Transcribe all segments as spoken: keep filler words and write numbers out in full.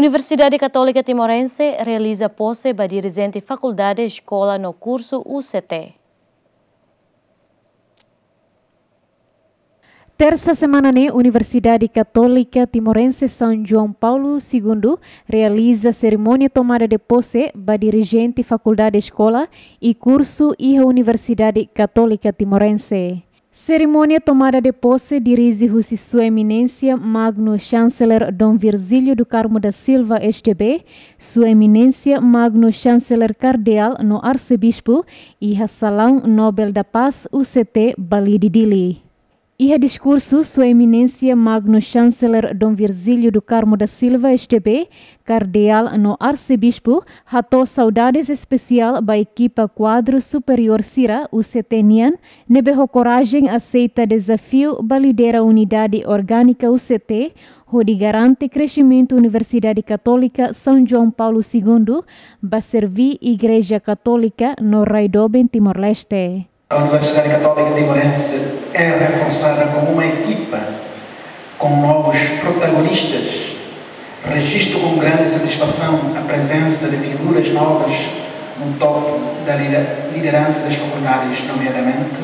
Universidade Katólika Timorense realiza pose ba dirijente fakuldade, eskola no kursu U C T. Tersa semana ne'e, Universidade Katólika Timorense São João Paulo Segundo realiza serimónia tomada de posse ba dirijente fakuldade, eskola i kursu iha Universidade Katólika Timorense. Serimónia tomada de posse dirije husi Sua Eminénsia Magno Chanceler Dom Virgílio do Carmo da Silva, S D B, Sua Eminénsia Magno Chanceler Kardeál no Arsebispu, iha Salaun Nobel da Paz, U C T, Balide, Dili. Iha diskursu, Sua Eminénsia Magno Chanceler Dom Virgílio do Carmo da Silva, S D B, Kardeál no Arsebispu, hato'o saudades espesiál ba ekipa kuadru superiór sira U C T nian, ne'ebé ho korajen aseita dezafiu ba lidera unidade orgánika U C T, hodi garante kresimentu Universidade Katólika São João Paulo Segundo, ba serví Igreja Katólika no rai doben Timor-Leste. A Universidade Católica Timorense é reforçada como uma equipa com novos protagonistas. Registro com grande satisfação a presença de figuras novas no topo da lidera-, liderança das faculdades, nomeadamente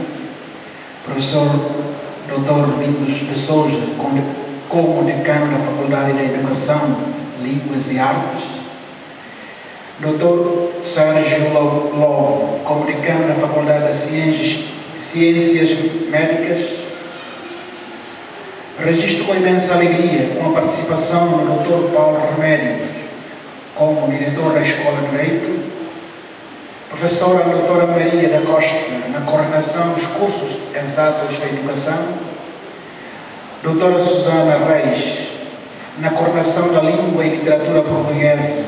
professor doutor Domingos de Sousa, como, como decano da Faculdade de Educação, Línguas e Artes, doutor Sérgio Lo-, Lobo, como decano da Faculdade de Ciências, Ciências Médicas. Registro com imensa alegria com a participação do doutor Paulo Remédio, como diretor da Escola de Direito, professora doutora Maria da Costa, na coordenação dos cursos exatos da educação, doutora Susana Reis, na coordenação da língua e literatura portuguesa,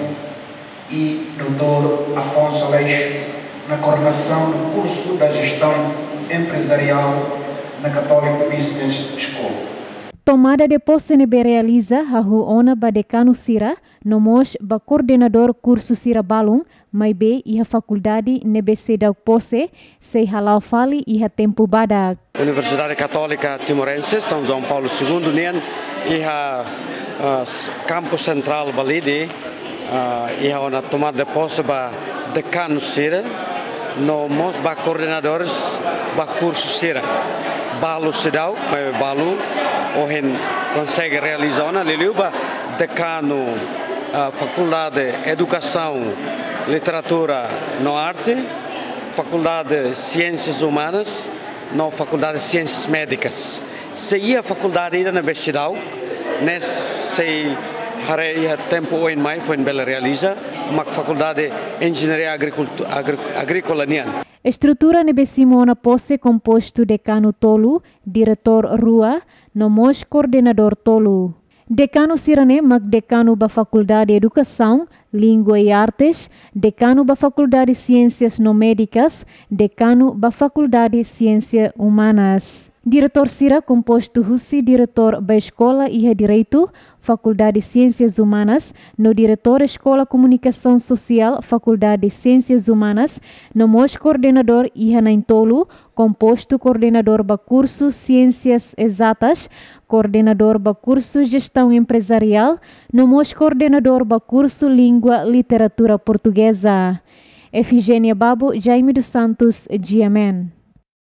e doutor Afonso Aleixo, na coordenação do curso da gestão empresarial na Catholic Business School. Tomada de posse ne'ebé realiza hahú ona ba dekanu sira, no mós ba koordenadór kursu sira balun, maibé iha fakuldade ne'ebé seidauk posse, sei hala'o fali iha tempu badak. Universidade Católica Timorense São João Paulo Segundo nian iha, ah, s-, Kampu Sentrál Balide, ah, iha ona tomada de posse ba dekanu sira, no mós ba koordenadores ba kursu sira. Balu seidauk, maibé balu ohin konsege realiza ona, liuliu ba dekanu, ah, Fakuldade Edukasaun, Literatura no Arte, Fakuldade Siénsias Umanas, no Fakuldade Siénsias Médikas. Sei iha fakuldade ida ne'ebé seidauk, ne'e sei haree iha tempu oin mai foin bele realiza, mak Fakuldade Enjeñaria Agrikultu-, Agri-, Agríkola nian. Estrutura ne'ebé simu ona posse kompostu dekanu tolu, diretór rua, no mós koordenadór tolu. Dekanu sira-ne'e mak dekanu ba Fakuldade Edukasaun, Língua e Artes, dekanu ba Fakuldade Siénsias no Médikas, dekanu ba Fakuldade Siénsias Umanas. Diretór sira kompostu husi diretór ba eskola iha Direitu, Fakuldade Siénsias Umanas, no diretór Eskola Komunikasaun Sosiál, Fakuldade Siénsias Umanas, no mós koordenadór iha na'in-tolu, kompostu koordenadór ba kursu Siénsias Ezatas, koordenadór ba kursu Jestaun Emprezariál, no mós koordenadór ba kursu Língua Literatura Portugeza. Efigénia Babo, Jaime dos Santos, G M N.